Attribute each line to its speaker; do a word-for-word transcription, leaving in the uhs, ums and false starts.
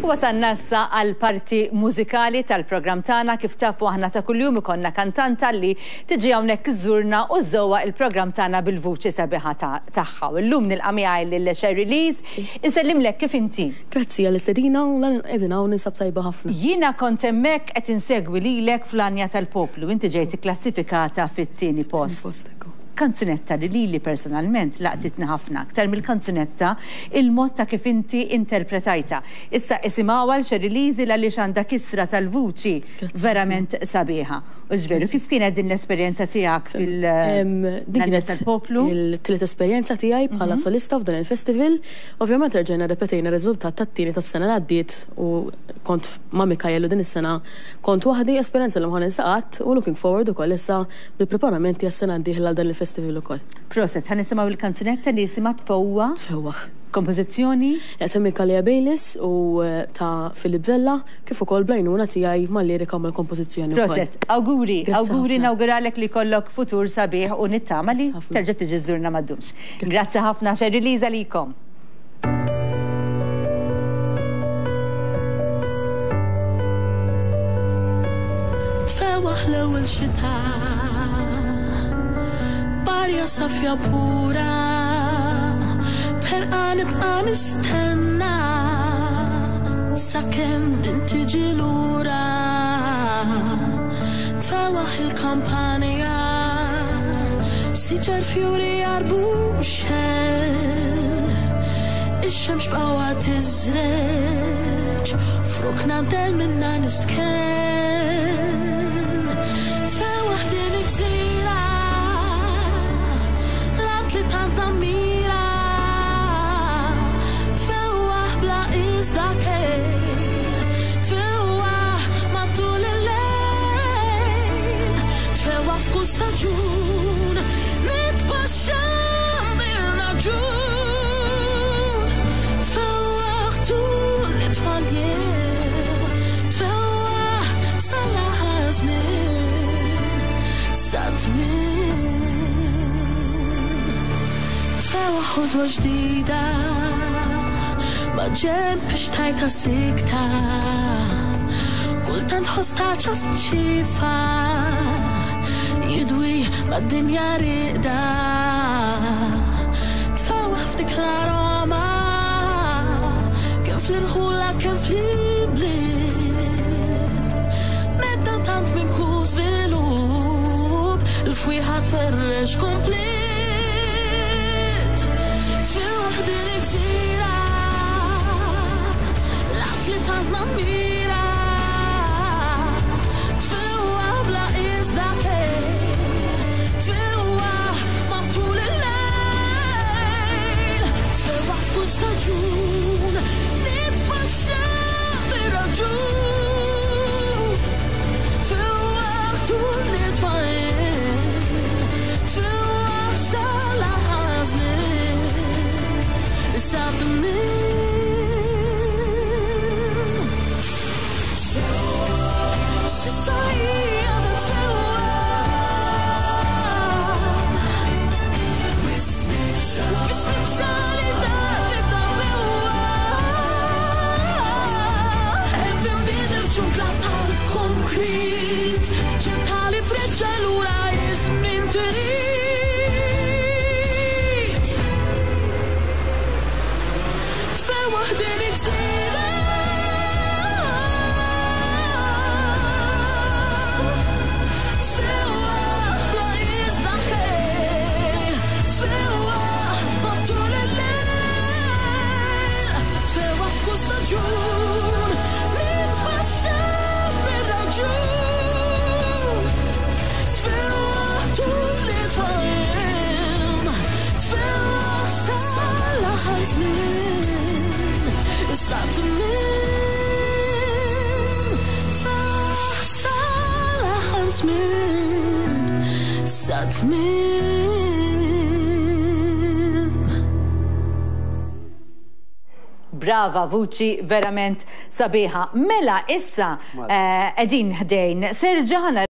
Speaker 1: Wasalna issa għal parti mużikali tal-programm tagħna. Kif tafu, aħna ta' kuljum ikollna kantanta li tiġi hawnhekk iżżurna u żżewwaq il-programm tagħna bil-vuċi sabiħa tagħha. U llum nilqa' miegħi lil Sherry Lees. Insellimlek, kif inti?
Speaker 2: Grazzi għall-istedina u qegħdin hawn, ninsab tajba ħafna.
Speaker 1: Jiena kont hemmhekk qed insegwi lilek fl-Għanja tal-Poplu. Inti ġejt ikklassifikata fit-tieni post. Kanzunetta li lili personalment laqtitni ħafna, aktar mill-kanzunetta, il-mod ta' kif inti interpretajta. Issa isimgħu għal Sherry Lees, għaliex għandha kisra tal-vuċi verament sabiħa. U ġveru, kif kienet din l-esperjenza tiegħek fil tal-poplu?
Speaker 2: Il-tielet esperjenza tiegħi bħala mhm. solista f'dan il-festival. Ovvjament rġajna repetejna riżultat tat-tieni tas-sena li għaddiet u kont ma' Mikael u din is-sena kont waħdi, esperjenza li mħan insaqat u looking forward ukoll issa bil-preparamenti għas-sena d-dieħla għal dan il-festival ukoll.
Speaker 1: Proset, ħa nisimgħu il-kanzunetta li jisimha Tfewwaħ.
Speaker 2: Tfewwaħ.
Speaker 1: Kompożizzjoni?
Speaker 2: Ta' Mikaela Bayliss u eh, ta' Filip Vella, kif ukoll bl-għajnuna tiegħi mal-lirika u mal-kompożizzjoni.
Speaker 1: Proset, auguri, auguri, nawguralek li jkollok futur sabiħ u nittama li terġa' tiġi żżurna ma ddumx. Grazzi ħafna, Sherry Lees għalikom.
Speaker 3: Tfewwaħ l-ewwel xita, b'arja safja pura, b'ħerqa nibqa' nistenna sakemm din tiġi lura. Tfewwaħ il-kampanja b'siġar fjuri għarbuxel, ix-xemx b'qawwa tiżreġ f'rokna del minna nistkenn. Tfewwaħ din il-gżira, l-art li tant nammira, tfewwaħ bla qies, bla kejl, tfewwaħ matul il-lejl, tfewwaħ f'kull staġun, nitpaxxa bir-raġun. Tfewwaħ tul it-tfal jiem, tfewwaħ sal-aħħar żmien, sa tmiem. Tfewwaħ ħodwa ġdida ma' ġenb xtajta sikta, kultant ħoss ta' ċafċifa jidwi mad-dinja rieqda. Tfewwaħ f'dik l-aroma kemm fl-irħula kemm fl-ibliet, meta tant minn kull żvilupp il-fwieħa tferrex komplet. Tfewwaħ din il-gżira, l-art li tant nammira, tfewwaħ bla qies, bla kejl, tfewwaħ matul il-lejl, tfewwaħ f'kull staġun, nitpaxxa bir-raġun. Tfewwaħ tul it-twal, tfewwaħ sal-aħħar żmien, sa tmiem. S'issa hija tfewwaħ, wisq nibża' li dan tibda tbewwaħ. Qed inbidel f'ġungla tal-konkrit, ċerta li treġġa' lura iż-żmien trid. Tfewwaħ din il-gżira, tfewwaħ bla qies, bla kejl, tfewwaħ matul il-lejl, tfewwaħ f'kull staġun, nitpaxxa bir-raġun. Tfewwaħ tul it-twal, tfewwaħ sal-aħħar żmien, sa tmiem. Tfewwaħ sal-aħħar żmien, sa tmiem.
Speaker 1: Brava, vuċi verament sabiħa. Mela issa qegħdin ħdejn Serġana.